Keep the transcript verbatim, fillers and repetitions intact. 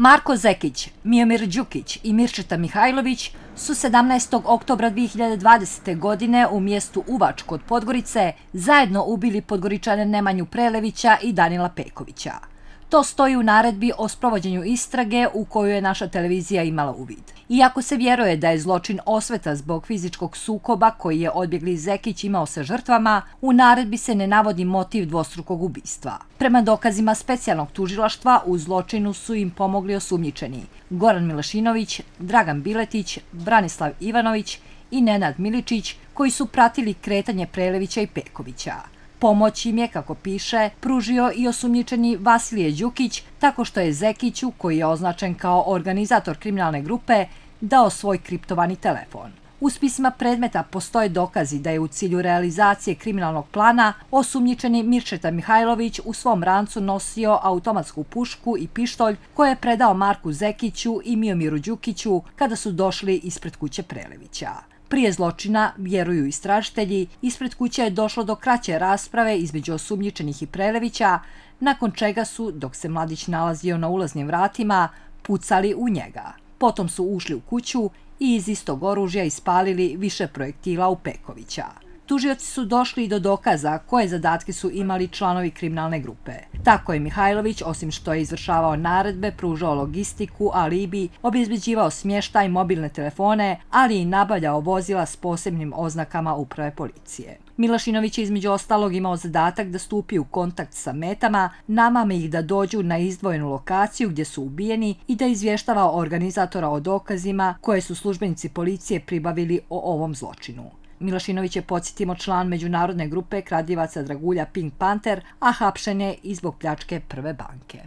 Marko Zekić, Miomir Đukić i Mirčeta Mihajlović su sedamnaestog oktobra dve hiljade dvadesete. godine u mjestu Uvač kod Podgorice zajedno ubili Podgoričane Nemanju Prelevića i Danila Pekovića. To stoji u naredbi o sprovođenju istrage u koju je naša televizija imala uvid. Iako se vjeruje da je zločin osveta zbog fizičkog sukoba koji je odbjegli Zekić imao sa žrtvama, u naredbi se ne navodi motiv dvostrukog ubistva. Prema dokazima specijalnog tužilaštva, u zločinu su im pomogli osumnjičeni Goran Milašinović, Dragan Biletić, Branislav Ivanović i Nenad Miličić, koji su pratili kretanje Prelevića i Pekovića. Pomoć im je, kako piše, pružio i osumnjičeni Vasilije Đukić tako što je Zekiću, koji je označen kao organizator kriminalne grupe, dao svoj kriptovani telefon. U spisima predmeta postoje dokazi da je u cilju realizacije kriminalnog plana osumnjičeni Mirčeta Mihajlović u svom rancu nosio automatsku pušku i pištolj koje je predao Marku Zekiću i Miomiru Đukiću kada su došli ispred kuće Prelevića. Prije zločina, vjeruju istražitelji, ispred kuće je došlo do kraće rasprave između osumnjičenih i Prelevića, nakon čega su, dok se mladić nalazio na ulaznim vratima, pucali u njega. Potom su ušli u kuću i iz istog oružja ispalili više projektila u Pekovića. Tužioci su došli i do dokaza koje zadatke su imali članovi kriminalne grupe. Tako je Mihajlović, osim što je izvršavao naredbe, pružao logistiku, alibi, obezbeđivao smještaj, mobilne telefone, ali i nabavljao vozila s posebnim oznakama uprave policije. Milašinović je između ostalog imao zadatak da stupi u kontakt sa metama, namame ih da dođu na izdvojenu lokaciju gdje su ubijeni i da izvještava organizatora o dokazima koje su službenici policije pribavili o ovom zločinu. Milašinović je, podsjetimo, član međunarodne grupe kradljivaca dragulja Pink Panter, a hapšen je i zbog pljačke Prve banke.